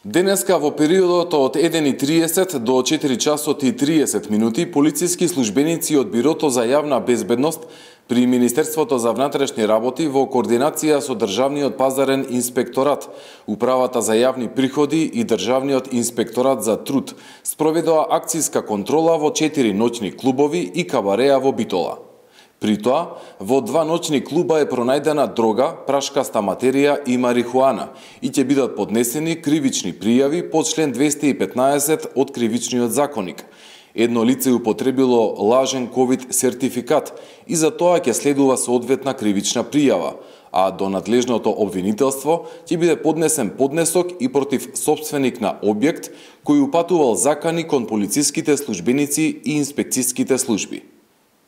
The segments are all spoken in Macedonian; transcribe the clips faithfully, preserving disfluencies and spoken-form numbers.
Денеска во периодот од еден и триесет до четири часот и триесет минути полициски службеници од Бирото за јавна безбедност при Министерството за внатрешни работи во координација со Државниот пазарен инспекторат, Управата за јавни приходи и Државниот инспекторат за труд спроведоа акцијска контрола во четири ноќни клубови и кабареа во Битола. При тоа, во два ноќни клуба е пронајдена дрога, прашкаста материја и марихуана и ќе бидат поднесени кривични пријави по член двесте и петнаесет од Кривичниот законник. Едно лице употребило лажен ковид сертификат и за тоа ќе следува соодветна кривична пријава, а до надлежното обвинителство ќе биде поднесен поднесок и против сопственик на објект кој упатувал закани кон полициските службеници и инспекцијските служби.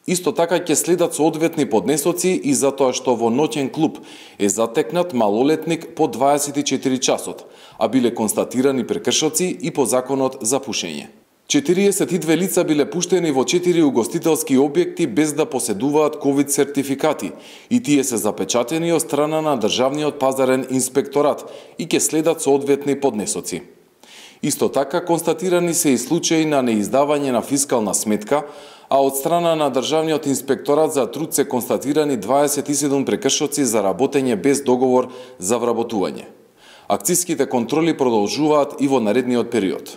Исто така ќе следат соодветни поднесоци и за тоа што во ноќен клуб е затекнат малолетник по дваесет и четири часот, а биле констатирани прекршоци и по законот за пушење. четириесет и две лица биле пуштени во четири угостителски објекти без да поседуваат ковид сертификати и тие се запечатени од страна на Државниот пазарен инспекторат и ќе следат соодветни поднесоци. Исто така констатирани се и случаи на неиздавање на фискална сметка, а од страна на Државниот инспекторат за труд се констатирани дваесет и седум прекршоци за работење без договор за вработување. Акцијските контроли продолжуваат и во наредниот период.